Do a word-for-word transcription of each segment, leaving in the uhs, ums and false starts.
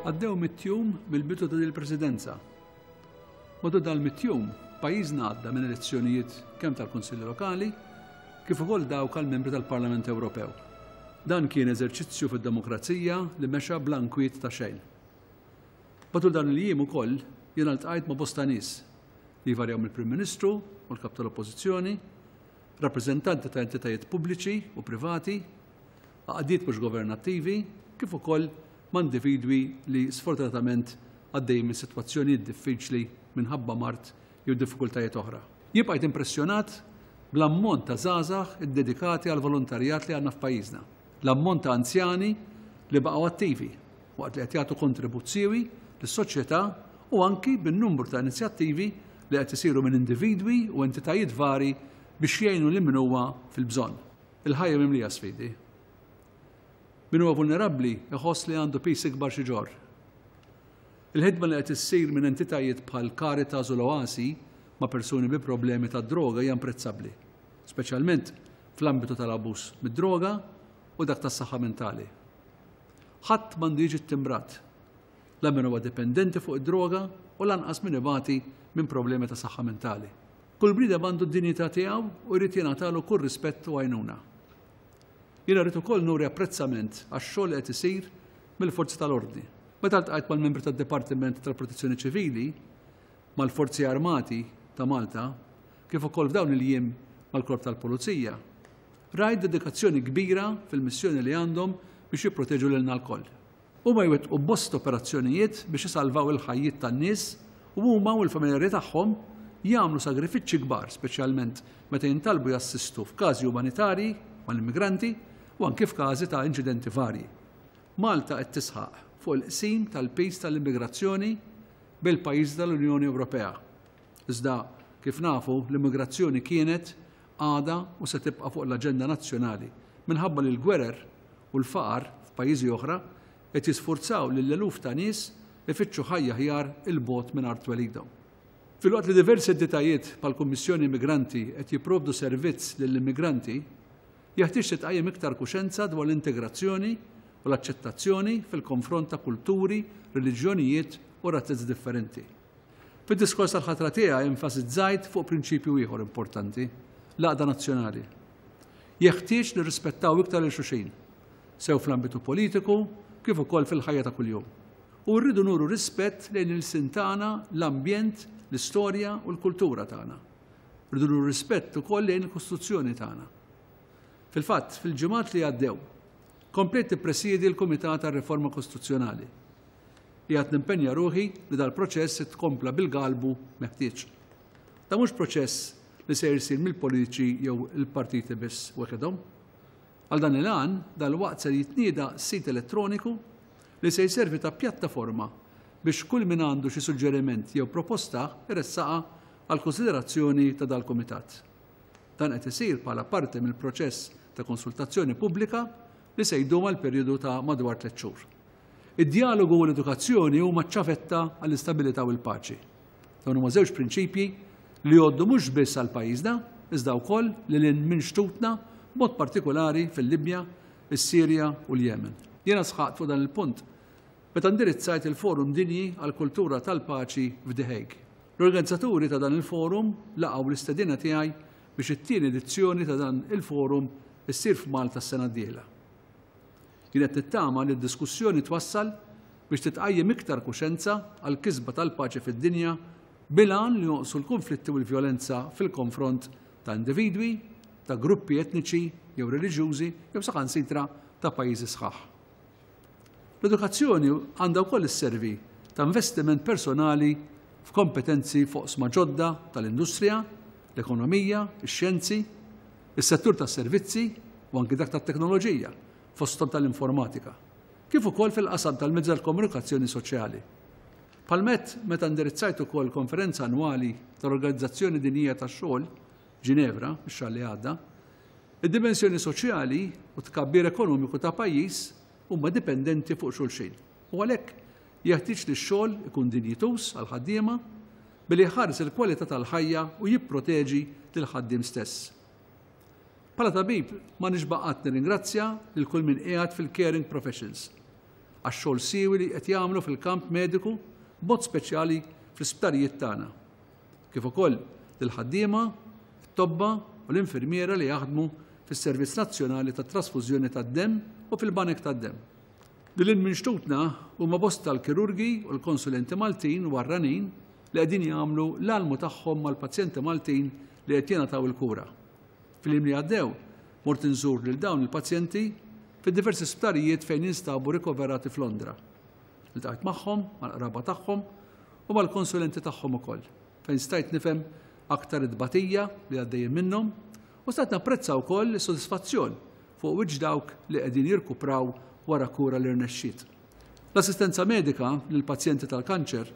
Għaddew mitt jum mill-bidu ta' il-presidenza. Matul dal-mitt jum, pajjiżna għadda minn elezzjonijiet kemm tal-Kunsilli Lokali kif ukoll dawk għal membri tal-Parlament Ewropew. Dan kien eżerċizzju fid-demokrazija li mexa bla nkwiet ta' xejn. Matul dan il-jiem ukoll jiena ltqajt ma' bosta nies li jvarjaw mill-Prim Ministru u l-Kap tal-Oppożizzjoni, rappreżentanti ta' entitajiet pubbliċi u privati, għaqdiet mhux governattivi, kif ukoll ma' individwi li sfortunatament għaddejjin minn sitwazzjonijiet diffiċli minħabba mard jew diffikultajiet oħra. Jien bqajt impressjonat bl-ammont ta' żgħażagħ iddedikati għal volontarjat li għandna f'pajjiżna, l-ammont ta' anzjani li baqgħu attivi waqt li qed jagħtu kontribut siewi lis-soċjetà u anki bin-numru ta' inizjattivi li qed isiru minn individwi u entitajiet vari biex jgħinu lil min huwa fil-bżonn. Il-ħajja mimlija sfidi. Min huwa vulnerabbli iħoss li għandu piż ikbar xi ġorr. Il-ħidma li qed issir minn entitajiet bħal Caritas u l-Oasi ma' persuni bi problemi ta' droga hija imprezzabbli, speċjalment fl-ambitu tal-abbuż mid-droga u dak tas-saħħa mentali. Ħadd m'għandu jiġi ttimbrat, la min huwa dipendenti fuq id-droga u lanqas min ibati minn problemi ta' saħħa mentali. Kull bniedem għandu d-dinjità tiegħu u jrid jingħatalu kull rispett u għajnuna. Jiena rrid ukoll nuri apprezzament għax-xogħol li qed isir mill-forzi tal-ordni. Meta ltqajt mal-membri tad-Dipartiment tal-Protezzjoni Ċivili, mal-Forzi Armati ta' Malta, kif ukoll f'dawn il-jiem mal-Korp tal-Pulizija, rajt dedikazzjoni kbira fil-missjoni li għandhom biex jipproteġu lilna lkoll. Huma jwettqu bosta operazzjonijiet biex isalvaw il-ħajjiet tan-nies u huma u l-familjari tagħhom jagħmlu sagrifiċċji kbar, speċjalment meta jintalbu jassistu f'każi umanitarji mal-immigranti u anke f'każi ta' inċidenti varji. Malta qed tisħaq fuq il-qsim tal-piż tal-immigrazzjoni bil-pajjiżi tal-Unjoni Ewropea. Iżda kif nafu l-immigrazzjoni kienet, għadha u se tibqa' fuq l-aġenda nazzjonali minħabba li l-gwerer u l-faqar f'pajjiżi oħra qed jisfurzaw lil eluf ta' nies ifittxu ħajja aħjar 'il bogħod minn art twelidhom. Filwaqt li diversi entitajiet bħall-Kummissjoni Immigranti qed jipprovdu servizz lill-immigranti, jeħtieġ titqajjem iktar kuxenza dwar l-integrazzjoni u l-aċċettazzjoni fil-konfront ta' kulturi, reliġjonijiet u razez differenti. Fid-diskors tal-ħatra tiegħi enfasizzajt fuq prinċipju ieħor importanti, l-għaqda nazzjonali. Jeħtieġ nirrispettaw iktar lil xulxin, sew fl-ambitu politiku kif ukoll fil-ħajja ta' kuljum. U rridu nuru rispett lejn il-sin tagħna, l-ambjent, l-istorja u l-kultura tagħna. Rridu nuru rispett ukoll lejn il-Kostituzzjoni tagħna. Fil-fatt, fil-ġimgħat li għaddew, komplejt nippresiedi l-Kumitat għar-Riforma Kostituzzjonali. Qiegħed nimpenja ruħi li dal-proċess itkompla bil-galbu meħtieġ. Dan mhux proċess li se jsir mill-politiċi jew il-partiti biss weħidhom. Għal dan il-għan, dal-waqt se jitnieda sit elettroniku li se jservi ta' pjattaforma biex kull min għandu xi suġġeriment jew proposta iressaqha għal konsiderazzjoni ta' dal-kumitat. Dan qed isir bħala parti mill-proċess ta' konsultazzjoni pubblika li se jdum għal perjodu ta' madwar tliet xhur. Id-dialogu u l-edukazzjoni huma ċ-ċavetta għall-istabilità u l-paċi. Dawn huma żewġ prinċipji li jgħoddu mhux biss għal pajjiżna, iżda wkoll lil hinn minn xtutna, b'mod partikolari fil-Libja, is-Sirja u l-Yemen. Jiena sħaqt fuq dan il-punt meta indirizzajt il-Forum Dinji għall-Kultura tal-Paċi f'The Hague. L-organizzaturi ta' dan il-forum laqgħu l-istedina tiegħi biex it-tieni edizzjoni ta' dan il-forum issir f'Malta s-sena d-dieħla. Jien qed nittama li d-diskussjoni twassal biex titqajjem iktar kuxenza għall-kisba tal-paċi fid-dinja bil-għan li jonqsu l-konflitti u l-vjolenza fil-konfront ta' individwi, ta' gruppi etniċi jew reliġjużi jew saħansitra ta' pajjiżi sħaħ. L-edukazzjoni għandha wkoll isservi ta' investiment personali f'kompetenzi f'oqsma ġodda tal-industrija, l-ekonomija, ix-xjenzi, is-settur tas-servizzi u anki dak tat-teknoloġija, fosthom tal-informatika, kif ukoll fil-qasam tal-mezzi tal-komunikazzjoni soċjali. Palmet meta indirizzajt ukoll konferenza annwali tal-Organizzazzjoni Dinjija tax-Xogħol Ġinevra ix-xahar li għadda, id-dimensjoni soċjali u tkabbir ekonomiku ta' pajjiż huma dipendenti fuq xulxin. U għalhekk jeħtieġ li x-xogħol ikun dinjituż għall-ħaddiema billi jħares il-kwalità tal-ħajja u jipproteġi lill-ħaddiem stess. Bħala tabib ma nixba' qatt nirringrazzja lil kull min qiegħed fil-caring professions għax-xogħol siewi li qed jagħmlu fil-kamp mediku b'mod speċjali fl-isptarijiet tagħna. Kif ukoll lill-ħaddiema, it-tobba u l-infermiera li jaħdmu fis-Servizz Nazzjonali tat-Trasfużjoni tad-Demm u fil-Banek tad-Demm. Lil hinn minn xtutna huma bosta l-kirurgi u l-konsulenti Maltin u barranin li qegħdin jagħmlu l-almu tagħhom mal-pazjenti Maltin li qed jingħataw il-kura. Fil-jiem li għaddew mort inżur lil dawn il-pazjenti fid-diversi sptarijiet fejn jinstabu rikoverati f'Londra. Iltqajt magħhom, mal-qraba tagħhom u mal-konsulenti tagħhom ukoll, fejn stajt nifhem aktar it-tbatija li għaddejjin minnhom u stajt napprezza wkoll is-sodisfazzjon fuq wiċċ dawk li qegħdin jirkupraw wara kura li rnexxiet. L-assistenza medika lill-pazjenti tal-kanċer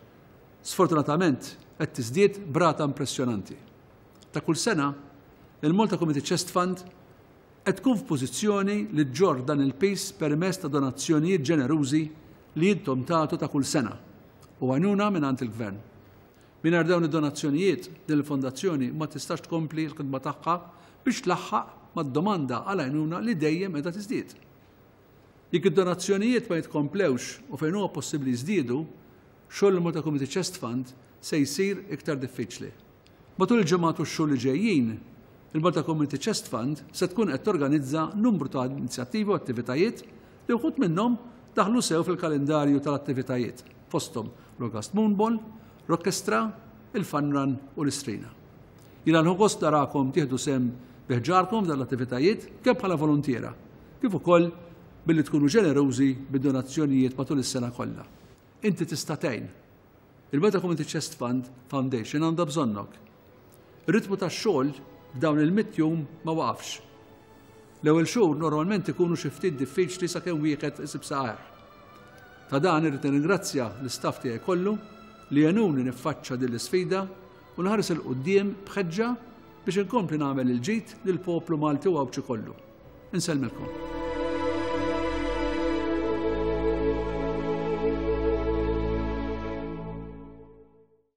sfortunatament qed tiżdied b'rata impressjonanti. Ta' kull sena, il-Malta Community Chest Fund qed tkun f'pożizzjoni li ġġorr dan il-piż permezz ta' donazzjonijiet ġenerużi li intom tagħtu ta' kull sena u għajnuna mingħand il-Gvern. Mingħajr dawn id-donazzjonijiet, din il-fondazzjoni ma tistax tkompli l-ħidma tagħha biex tlaħħaq mad-domanda għal għajnuna li dejjem qiegħda tiżdied. Jekk id-donazzjonijiet ma jitkomplewx u fejn huwa possibbli jiżdiedu, xogħol il-Malta Community Chest Fund se jsir iktar diffiċli. Matul il-ġimgħat u x-xhur li ġejjin, il-Malta Community Chest Fund se tkun qed torganizza numru ta' inizjattivi u attivitajiet li wħud minnhom daħlu sew fil-kalendarju tal-attivitajiet, fosthom l-August Moonball, l-Orkestra, il-Fun Run u l-Istrina. Jiena nieħu gost narakom tieħdu sehem bi ħġarkom f'dan l-attivitajiet kemm bħala volontiera, kif ukoll billi tkunu ġenerużi bid-donazzjonijiet matul is-sena kollha. Inti tista' tgħin. Il-Malta Community Chest Fund Foundation għandha bżonnok. Ir-ritmu tax-xogħol f'dawn il-mitt jum ma waqafx. L-ewwel xhur normalment ikunu xi ftit diffiċli sakemm wieħed isib saqajh. Ta' dan irrid nirringrazzja l-istaff tiegħi kollu li għenuni niffaċċa din l-isfida u nħares 'il quddiem b'ħeġġa biex inkompli nagħmel il-ġid lill-poplu Malti u Għawdxi kollu. Insellmilkom.